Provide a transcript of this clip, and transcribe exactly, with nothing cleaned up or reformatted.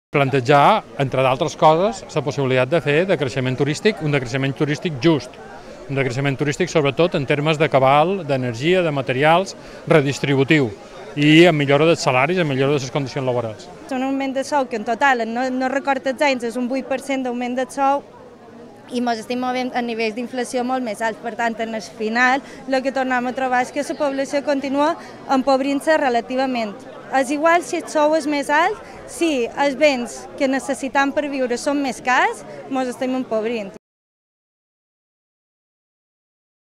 Plantejar, entre d'altres coses, la possibilitat de fer de creixement turístic, un decreixement turístic just, un decreixement turístic sobretot en termes de cabal, d'energia, de materials, redistributiu i en millora dels salaris, en millora de les condicions laborals. Un augment de sou que en total, no, no recordo els anys, és un vuit per cent d'augment de sou i ens estem movent a nivells d'inflació molt més alts. Per tant, en el final, el que tornem a trobar és que la població continua empobrint-se relativament. És igual si el sou és més alt, si els béns que necessitem per viure són més cars, ens estem empobrint.